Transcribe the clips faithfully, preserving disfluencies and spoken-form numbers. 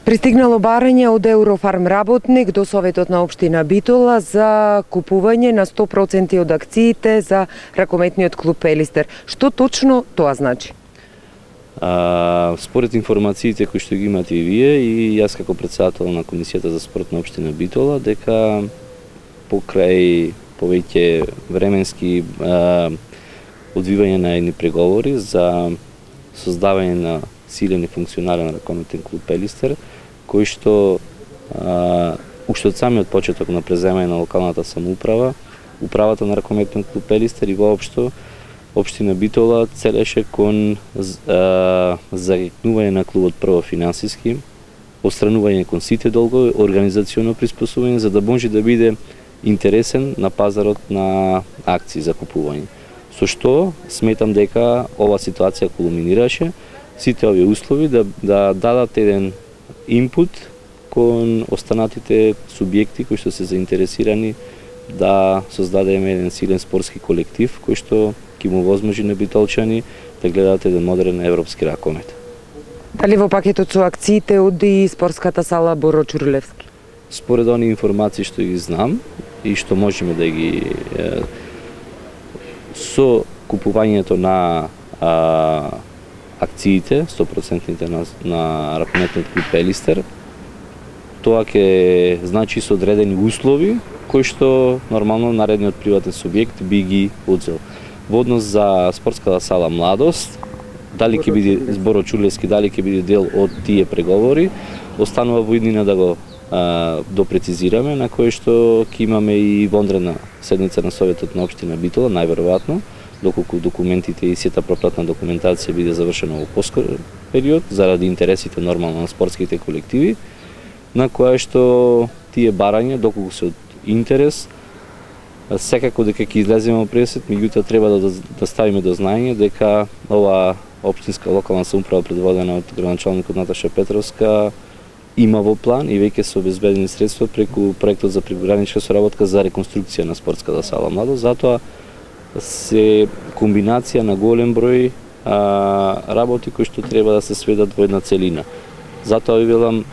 Пристигнало барање од Eurofarm работник до Советот на општина Битола за купување на сто проценти од акциите за ракометниот клуб Пелистер. Што точно тоа значи? А, според информациите кои што ги имате и вие и јас како претседател на Комисијата за спорт на општина Битола, дека покрај повеќе временски а, одвивање на едни преговори за создавање на силен и функционален ракометен клуб Пелистер, кој што а, уште од самиот почеток на преземање на локалната самоуправа, управата на ракометен клуб Пелистер и воопшто општина Битола целеше кон а, зарекнување на клубот прво финансиски, отстранување кон сите долгови, организационо приспособување за да може да биде интересен на пазарот на акции за купување. Со што сметам дека ова ситуација кулминираше, сите овие услови да, да дадат еден инпут кон останатите субјекти кои што се заинтересирани да создадеме еден силен спортски колектив кој што ќе му возможи на битолчани да гледаат еден модерен европски ракомет. Дали во пакетот со акциите оди спортската сала Боро Ќурлевски? Според оние информации што ги знам и што можеме да ги е, со купувањето на а, акциите, сто проценти на, на ракометниот клуб Пелистер, тоа ќе значи со одредени услови кои што нормално наредниот приватен субјект би ги одзел. Во однос за спортската сала Младост, дали ќе биде Боро Ќурлевски, дали ќе биде дел од тие преговори, останува во иднина да го а, допрецизираме, на кој што ќе имаме и вонредна седница на Советот на општина Битола, најверојатно, доколку документите и сета пропратна документација биде завршена во поскор период, заради интересите нормално на спортските колективи, на која што тие барања, доколку се од интерес, секако дека ќе излеземе во пресет, меѓутоа треба да, да ставиме до знаење дека ова општинска локална самоуправа предводена од градоначалникот Наташа Петровска има во план и веќе се обезбедени средства преку проектот за прекогранична соработка за реконструкција на спортската сала Младост. Затоа се комбинација на голем број а, работи кои што треба да се сведат во една целина. Затоа ви велам,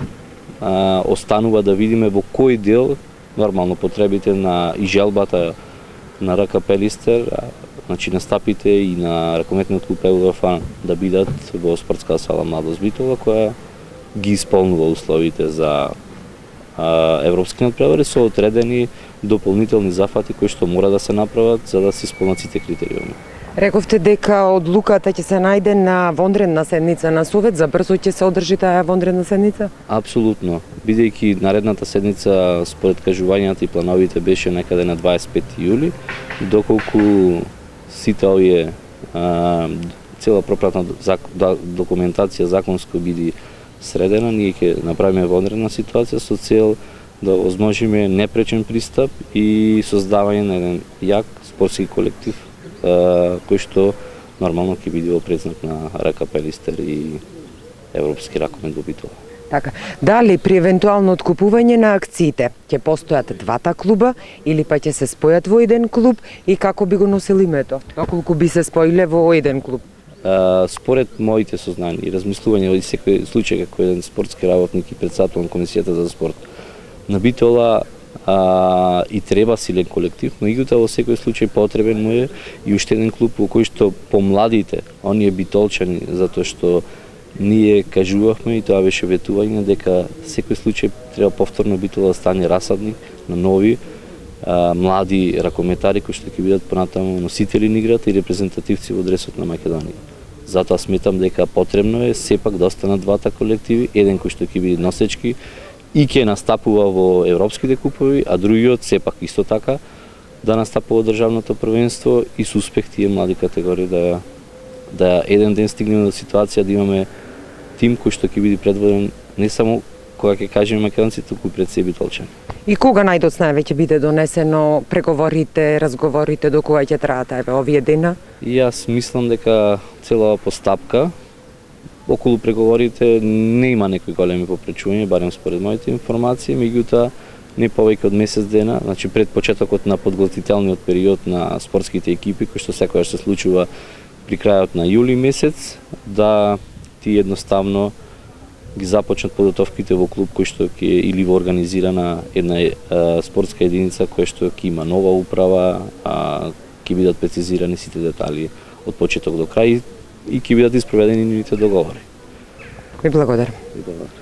а, останува да видиме во кој дел нормално потребите на и желбата на РК Пелистер, а, значи настапите и на ракометниот клуб Eurofarm да бидат во спортската сала Младост Битола, која ги исполнува условите за а, европски надпревари со одредени дополнителни зафати кои што мора да се направат за да се исполнат сите критериуми. Рековте дека одлуката ќе се најде на вонредна седница на Совет, за брзо ќе се одржи таа вонредна седница? Апсолутно, бидејќи наредната седница според кажувањата и плановите беше некаде на дваесет и пети јули, доколку сите овие а, цела пропратна документација законско биде средена, ние ќе направиме вонредна ситуација со цел да возможиме непречен пристап и создавање на еден јак спортски колектив кој што нормално ќе биде во предзнак на РК Пелистер и европски ракомет во Битола. Така, дали при евентуално откупување на акциите ќе постојат двата клуба или па ќе се спојат во еден клуб и како би го носил името? Доколку би се споиле во еден клуб? Uh, според моите сознани и размислување од секој случај како еден спортски работник и претседател на Комисијата за спорт на Битола а, и треба силен колектив, но меѓутоа во секој случај потребен му е и уште еден клуб во кој што помладите, оние битолчани, затоа што ние кажувавме и тоа беше ветување дека секој случај треба повторно Битола да стане расадник на нови а, млади ракометари кои што ќе бидат понатаму носители на играта и репрезентативци во дресот на Македонија. Затоа сметам дека потребно е сепак да останат двата колективи, еден кој што ќе биде носечки и ќе настапува во европските купови, а другиот сепак исто така да настапува државното првенство и со успех тие млади категории да да еден ден стигнеме до ситуација да имаме тим кој што ќе биде предводен не само кога ќе кажеме македонците, туку пред се битолчани. И кога најдоцна веќе биде донесено преговорите, разговорите, до кога ќе траат еве овие дена? И јас мислам дека цела постапка околу преговорите не има некои големи попречувања, барем според моите информации, меѓутоа не повеќе од месец дена, значи пред почетокот на подготвителниот период на спортските екипи, кој што секогаш се случува при крајот на јули месец, да ти едноставно ги започнат подготовките во клуб кој што ќе или во организирана една е, спортска единица која што ќе има нова управа, а, ќе бидат прецизирани сите детали од почеток до крај и ќе бидат испроведени нивните договори. Ви благодарам. Ви благодарам.